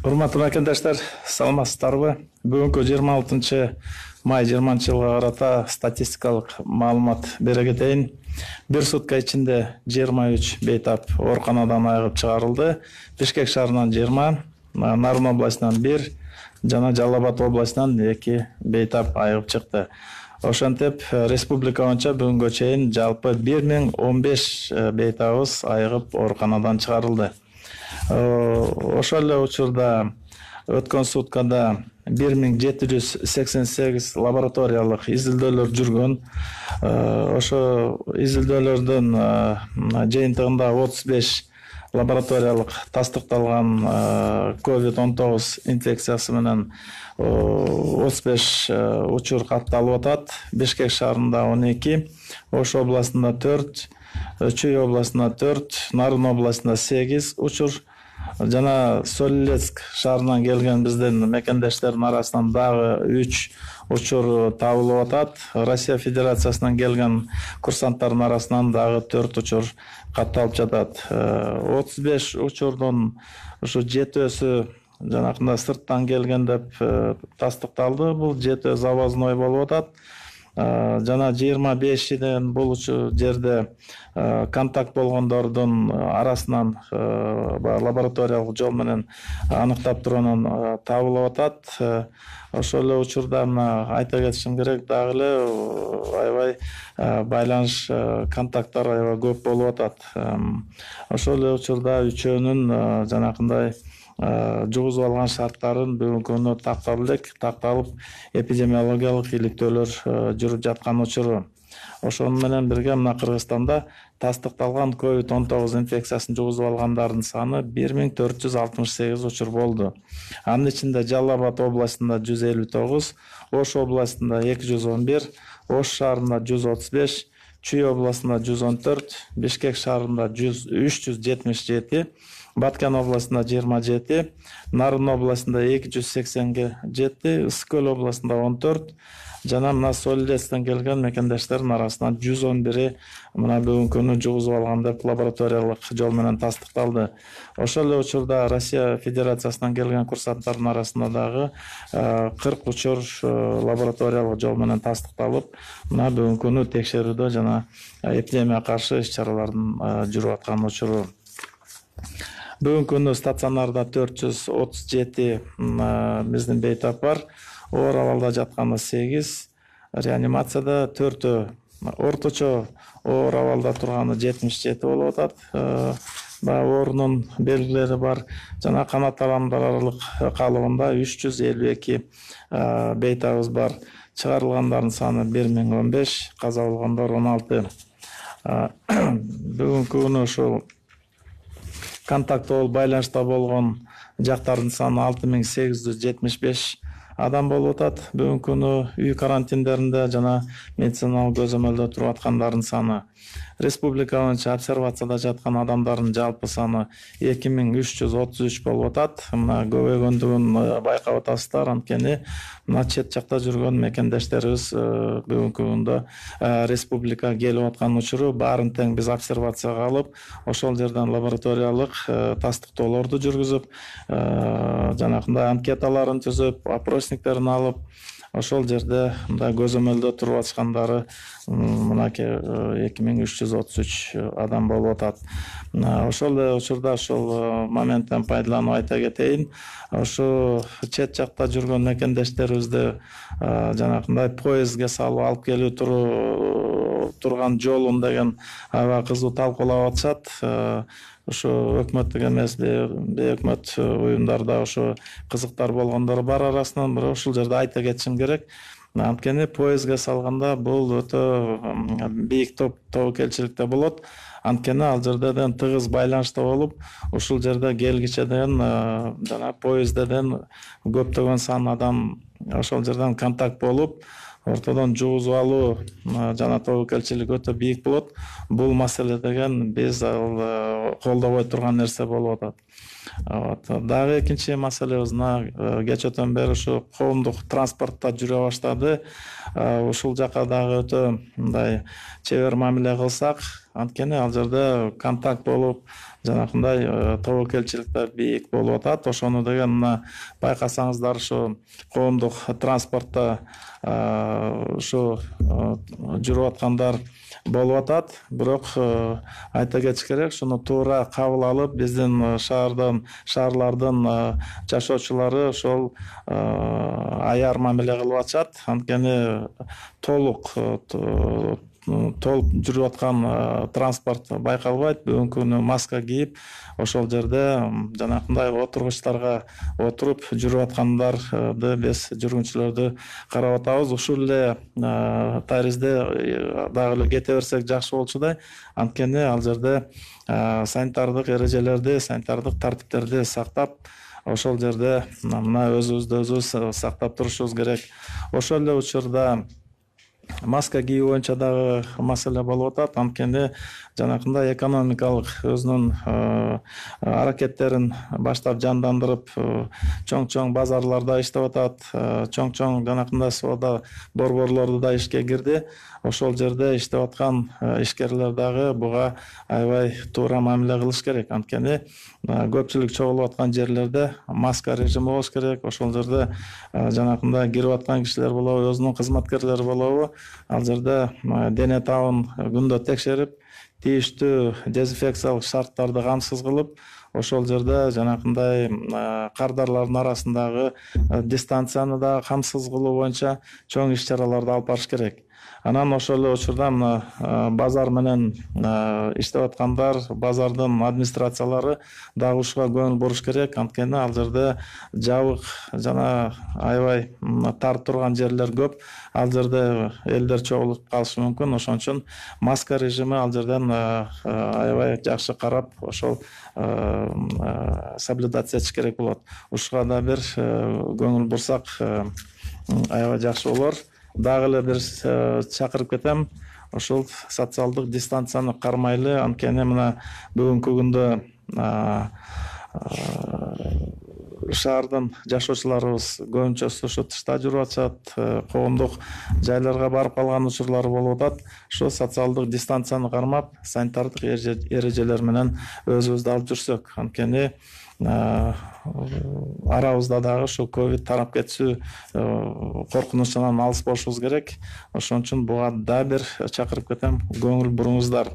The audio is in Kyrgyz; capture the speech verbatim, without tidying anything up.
Урматтуу мекендештер, саламатсыздарбы? Бүгүнкү жыйырма алтынчы май жыйырманчы жылга карата статистикалык маалымат бере кетейин. Бир сутка ичинде жыйырма үч бейтап ооруканадан айыгып чыгарылды. Бишкек шаарынан жыйырма, Нарын областынан бир жана Жалал Абад областынан эки бейтап айыгып чыкты. Ошентип, республика боюнча бүгүнгө чейин жалпы бир миң он беш бейтабыбыз айыгып ооруканадан чыгарылды. Ошол эле учурда өткөн суткада бир миң жети жүз сексен сегиз лабораториялык изилдөөлөр жүргөн. Ошо изилдөөлөрдүн жыйынтыгында отуз беш лабораториялык тастыкталган ковид он тогуз инфекциясы менен отуз беш учур катталып атат. Бишкек шаарында он эки, Ош областында төрт, Чүй областында төрт, Нарын областында сегиз учур жана Солилецк шаарынан келген биздин мекендештердин арасынан дагы үч учур табылып атат. Россия Федерациясынан келген курсанттардын арасынан дагы төрт учур катталып жатат. отуз беш учурдун ушу жетөөсү жанакында сырттан келген деп тастыкталды. Бул жетөө завозной болуп атат. Жана жыйырма бешиден бул жерде контакт болгондордун арасынан лабораториялык жол менен аныктап турганын табылып атат. Ошол эле учурда мына айта кетишим керек, дагы эле аябай байланыш контакттар аябай көп болуп атат. Ошол эле учурда үчөөнүн жанакындай жугузуп алган шарттарын бүгүнкү күнү тактап элек, такталып эпидемиологиялык иликтөөлөр жүрүп жаткан учуру. Ошону менен бирге мына Кыргызстанда тастыкталган ковид он тогуз инфекциясын жугузуп алгандардын саны бир миң төрт жүз алтымыш сегиз учур болду. Анын ичинде Жалал Абад областында жүз элүү тогуз, Ош областында эки жүз он бир, Ош шаарында жүз отуз беш, Чүй областында жүз он төрт, Бишкек шаарында үч жүз жетимиш жети, Баткен областында жыйырма жети, Нарын областында эки жүз сексен жети, Ысык Көл областында он төрт, жана мына Солилецктен келген мекендештердин арасынан жүз он бири мына бүгүнкү күнү жугузуп алган деп лабораториялык жол менен тастыкталды. Ошол эле учурда Россия Федерациясынан келген курсанттардын арасында дагы кырк учур лабораториялык жол менен тастыкталып, мына бүгүнкү күнү текшерүүдө жана эпидемияга каршы иш-чаралардын жүрүп аткан учуру. Бүгүнкү күнү стационарда төрт жүз отуз жети биздин бейтап бар. Оор абалда жатканы сегиз, реанимацияда төртөө, орточо оор абалда турганы жетимиш жети болуп атат. Оорунун белгилери бар жана канат тарамдаралык калыбында үч жүз элүү эки бейтабыбыз бар. Чыгарылгандардын саны бир миң он беш, каза болгондор он алты. Бүгүнкү күнү ушул контакт болуп байланышта болгон жактардын саны алты миң сегиз жүз жетимиш беш адам болуп атат. Бүгүнкү күнү үй карантиндеринде жана медициналык көзөмөлдө туруп аткандардын саны. Республика боюнча обсервацияда жаткан адамдардын жалпы саны эки миң үч жүз отуз үч болуп атат. Мына көбөйгөндүгүн байкап атасыздар, анткени мына чет жакта жүргөн мекендештерибиз бүгүнкү күндө республикага келип аткан учуру баарын тең биз обсервацияга алып, ошол жерден лабораториялык тастыктоолорду жүргүзүп, жанакындай анкеталарын түзүп, опросниктерин алып, ошол жерде мындай көзөмөлдө туруп атышкандары мынакей эки миң үч жүз отуз үч адам болуп атат. Ошол эле учурда ошол моменттен пайдаланып айта кетейин. Ошо чет жакта жүргөн мекендештерибизди жанакындай поездге салып алып келүү турган жолун деген аябай кызуу талкуулап атышат. Ошо өкмөттүк эмес, бейөкмөт уюмдарда ошо кызыктар болгондор бар арасынан, бирок ушул жерде айта кетишим керек. Анткени поездге салганда бул өтө бийик тобокелчиликте болот. Анткени ал жерден тыгыз байланышта болуп, ушул жерде келгичеден жана поездден көптөгөн сан адам ошол жерден контакт болуп, ортодон жугузуп алуу жана тобокелчилик өтө бийик болот. Бул маселе деген биз колдобой турган нерсе болуп атат. Дагы экинчи маселебиз мына кечөөтөн бери ушу коомдук транспортто жүрө баштады. Ушул жака дагы өтө мындай чебер мамиле кылсак, анткени ал жерде контакт болуп, жанакындай тобокелчиликтер бийик болуп атат. Ошону деген мына байкасаңыздар ушу коомдук транспортто ушу жүрүп аткандар болуп атат. Бирок айта кетиш керек, шуну туура кабыл алып, биздин шаардан, шаарлардын жашоочулары ошол аяр мамиле кылып атышат. Анткени толук толуп жүрүп аткан транспорт байкалбайт. Бүгүнкү күнү маска кийип, ошол жерде жанакындай отургучтарга отуруп жүрүп аткандарды, биз жүргүнчүлөрдү карап атабыз. Ушул эле таризде дагы эле кете берсек жакшы болчудай. Анткени ал жерде санитардык эрежелерди, санитардык тартиптерди сактап, ошол жерде мына өзүбүздү өзүбүз сактап турушубуз керек. Ошол эле учурда маска кийүү боюнча дагы маселе болуп атат. Анткени жанакындай экономикалык өзүнүн аракеттерин баштап жандандырып, чоң-чоң базарларда иштеп атат, чоң-чоң жанакындай соода борборлору да ишке кирди. Ошол жерде иштеп аткан ишкерлер дагы буга аябай туура мамиле кылыш керек. Анткени көпчүлүк чогулуп аткан жерлерде маска режими болуш керек. Ошол жерде жанакындай кирип аткан кишилер болобу, өзүнүн кызматкерлери болобу, ал жерде дене табын күндө текшерип, тийиштүү дезинфекциялык шарттарды камсыз кылып, ошол жерде жанакындай кардарлардын арасындагы дистанцияны да камсыз кылуу боюнча чоң иш чараларды алып барыш керек. Анан ошол эле учурда мына базар менен иштеп аткандар, базардын администрациялары дагы ушуга көңүл буруш керек. Анткени ал жерде жабык жана аябай тар турган жерлер көп. Ал жерде элдер чогулуп калышы мүмкүн. Ошон үчүн маска режими ал жерден аябай жакшы карап, ошол соблюдация этиш керек болот. Ушуга да бир көңүл бурсак аябай жакшы болор. Дагы эле бир чакырып кетем, ошол социалдык дистанцияны кармайлы. Анткени мына бүгүнкү күндө шаардын жашоочуларыбыз көбүнчөсү ушу тышта жүрүп атышат, коомдук жайларга барып калган учурлары болуп атат. Ошо социалдык дистанцияны кармап, санитардык эрежелер менен өзүбүздү алып жүрсөк, анткени арабызда дагы ушул ковид тарап кетүүсү коркунучунан алыс болушубуз керек. Ошон үчүн буга дагы бир чакырып кетем, көңүл буруңуздар.